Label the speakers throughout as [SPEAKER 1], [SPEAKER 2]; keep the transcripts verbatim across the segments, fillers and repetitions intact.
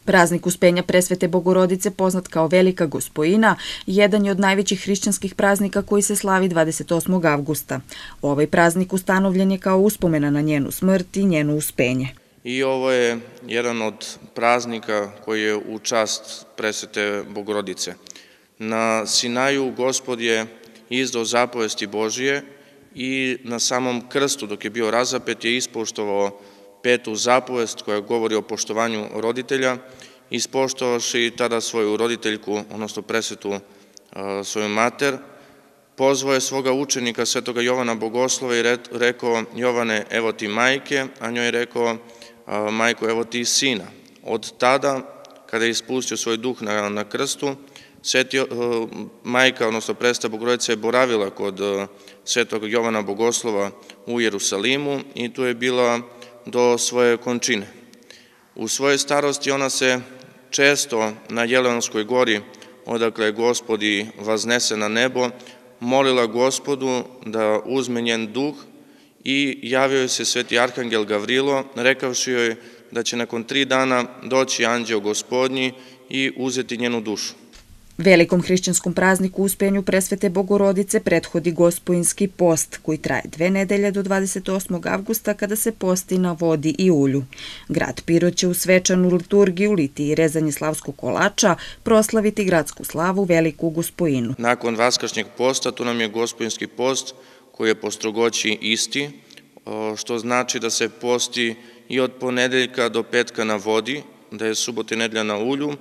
[SPEAKER 1] Praznik Uspenja Presvete Bogorodice, poznat kao Velika Gospojina, jedan je od najvećih hrišćanskih praznika koji se slavi dvadeset osmog avgusta. Ovaj praznik ustanovljen je kao uspomena na njenu smrt i njeno uspenje.
[SPEAKER 2] I ovo je jedan od praznika koji je u čast Presvete Bogorodice. Na Sinaju Gospod je izdao zapovesti Božije i na samom krstu, dok je bio razapet, je ispoštovao petu zapovest koja govori o poštovanju roditelja, ispoštovavši tada svoju roditeljku, odnosno presvetu svoju mater, pozvao je svoga učenika svetoga Jovana Bogoslova i rekao: Jovane, evo ti majke, a njoj je rekao: majko, evo ti sina. Od tada, kada je ispustio svoj duh na, na krstu, Sveti, majka, odnosno Presveta Bogorodica je boravila kod svetog Jovana Bogoslova u Jerusalimu i tu je bila do svoje končine. U svojoj starosti ona se često na Jelenskoj gori, odakle je Gospod i vaznese na nebo, molila Gospodu da uzme njen duh i javio joj se sveti arhangel Gavrilo, rekavši joj da će nakon tri dana doći anđeo Gospodnji i uzeti njenu dušu.
[SPEAKER 1] Velikom hrišćanskom prazniku Uspenju Presvete Bogorodice prethodi Gospojinski post, koji traje dve nedelje do dvadeset osmog avgusta, kada se posti na vodi i ulju. Grad Pirot će u svečanu liturgiju, liti i rezanje slavskog kolača, proslaviti gradsku slavu Veliku Gospojinu.
[SPEAKER 2] Nakon vaskršnjeg posta tu nam je Gospojinski post, koji je po strogoći isti, što znači da se posti i od ponedeljka do petka na vodi, da je subota i nedelja na ulju,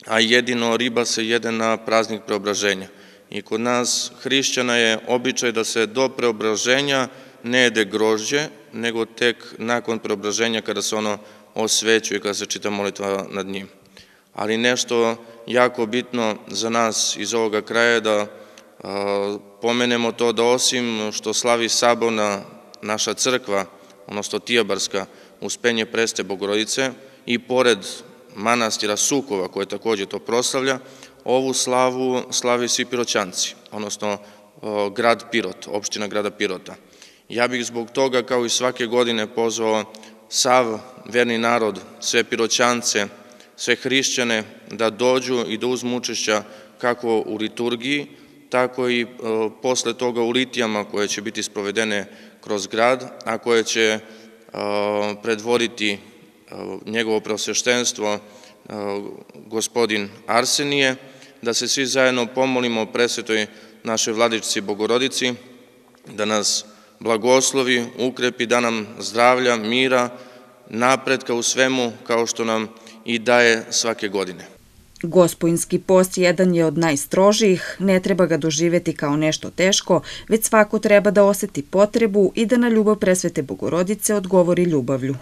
[SPEAKER 2] a jedino riba se jede na praznik preobraženja. I kod nas hrišćana je običaj da se do preobraženja ne jede grožđe, nego tek nakon preobraženja kada se ono osvećuje, kada se čita molitva nad njim. Ali nešto jako bitno za nas iz ovoga kraja je da a, pomenemo to da osim što slavi saborna naša crkva, odnosno Tijabarska, Uspenje Presvete Bogorodice, i pored manastira Sukova, koje također to proslavlja, ovu slavu slavi svi Piroćanci, odnosno grad Pirot, opština grada Pirota. Ja bih zbog toga, kao i svake godine, pozvao sav verni narod, sve Piroćance, sve hrišćane da dođu i da uzmu učešća kako u liturgiji, tako i posle toga u litijama koje će biti sprovedene kroz grad, a koje će predvoditi njegovo preosveštenstvo gospodin Arsenije, da se svi zajedno pomolimo Presvetoj našoj Vladičici Bogorodici, da nas blagoslovi, ukrepi, da nam zdravlja, mira, napretka u svemu, kao što nam i daje svake godine.
[SPEAKER 1] Gospojinski post jedan je od najstrožijih, ne treba ga doživeti kao nešto teško, već svako treba da oseti potrebu i da na ljubav Presvete Bogorodice odgovori ljubavlju.